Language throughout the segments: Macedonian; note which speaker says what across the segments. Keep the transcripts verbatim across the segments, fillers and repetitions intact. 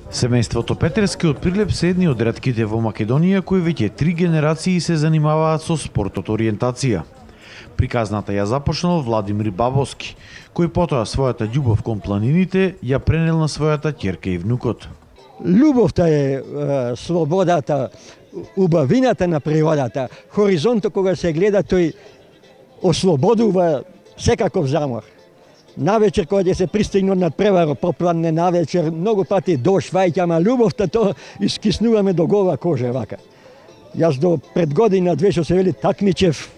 Speaker 1: Семејството Петерски од Прилеп се едни од ретките во Македонија кои веќе три генерации се занимаваат со спортот ориентација. Приказната ја започнал Владимир Бабовски, кој потоа својата љубов кон планините ја пренел на својата ќерка и внукот.
Speaker 2: Љубовта е, е слободата, убавината на природата, хоризонтот кога се гледа тој ослободува секаков замор. Навечер кога ќе се пристигне од надпреварот, попладне навечер, многу пати дожд ваѓа, ама љубовта то искиснуваме до гола кожа вака. Јас до пред година две што се вели такмичев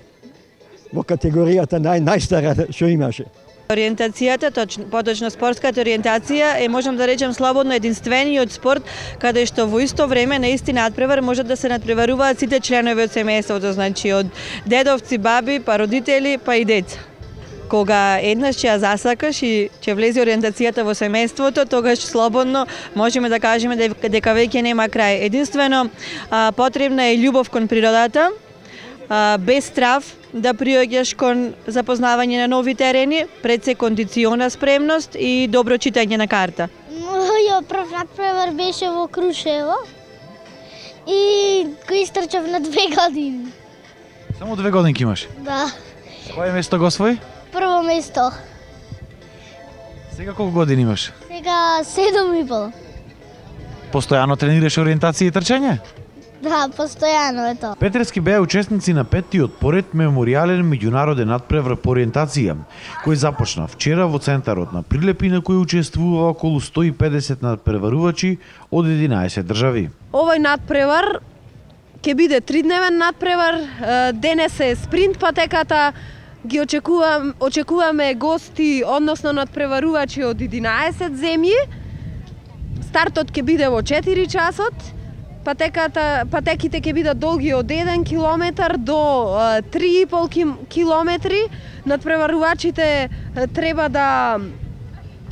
Speaker 2: во категоријата нај најстара што имаше.
Speaker 3: Ориентацијата, точно, поточно спортската ориентација е, можам да речем слободно, единствениот спорт каде што во исто време на исти надпревар можат да се надпреваруваат сите членови од семејството, значи од дедовци, баби, па родители, па и деца. Кога еднаш ќе ја засакаш и ќе влезе ориентацијата во семејството, тогаш слободно можеме да кажеме дека веќе нема крај. Единствено а, потребна е љубов кон природата, а, без страв да приоѓаш кон запознавање на нови терени, пред се кондициона спремност и добро читање на карта.
Speaker 4: Мојот прв надпревар беше во Крушево и кој истрчав на две години.
Speaker 1: Само две годинки имаш?
Speaker 4: Да.
Speaker 1: Кој место го освои?
Speaker 4: Прво место.
Speaker 1: Сега колку години имаш?
Speaker 4: Сега седум и пол.
Speaker 1: Постојано тренираш ориентација и трчање?
Speaker 4: Да, постојано е тоа.
Speaker 1: Петерски беа учесници на петтиот поред меморијален меѓународен надпревар по ориентација, кој започна вчера во центарот на Прилеп и на кој учествува околу сто и педесет надпреварувачи од единаесет држави.
Speaker 5: Овој надпревар ќе биде тридневен надпревар, денес е спринт патеката, ги очекувам, очекуваме гости, односно надпреварувачи од единаесет земји. Стартот ќе биде во четири часот. Патеката, патеките ќе бидат долги од еден километар до три и пол километри. Надпреварувачите треба да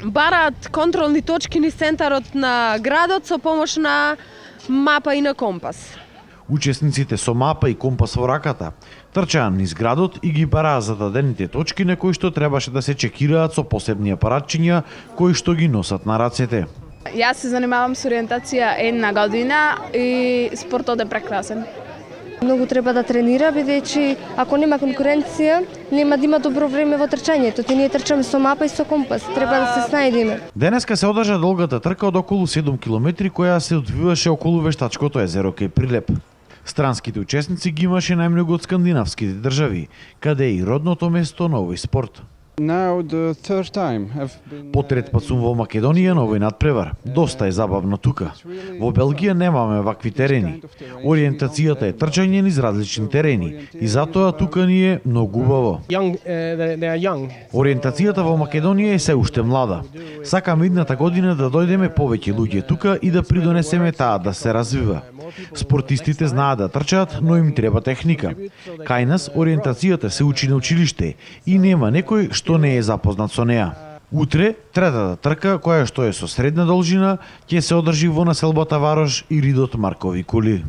Speaker 5: бараат контролни точки низ центарот на градот со помош на мапа и на компас.
Speaker 1: Учесниците со мапа и компас во раката трчаа низ градот и ги бараа зададените точки на кои што требаше да се чекираат со посебни апаратчиња кои што ги носат на рацете.
Speaker 6: Јас се занимавам со ориентација една година и спортот е прекрасен.
Speaker 7: Многу треба да тренира, бидејќи ако нема конкуренција, нема да има добро време во трчањето. Ти ние трчаме со мапа и со компас, треба да се снајдеме.
Speaker 1: Денеска се одржа долгата трка од околу седум километри која се одвиваше околу вештачкото езеро кај Прилеп. Странските учесници ги имаше најмногу од скандинавските држави, каде е и родното место на овој спорт. По трет пат сум во Македонија на овој надпревар. Доста е забавно тука. Во Белгија немаме вакви терени. Ориентацијата е трчање низ различни терени и затоа тука ни е многу убаво. Ориентацијата во Македонија е се уште млада. Сакаме идната година да дојдеме повеќе луѓе тука и да придонесеме таа да се развива. Спортистите знаат да трчаат, но им треба техника. Кај нас ориентацијата се учи на училиште и нема некој што не е запознат со неа. Утре, третата трка, која што е со средна должина, ќе се одржи во населбата Варош и Ридот Маркови кули.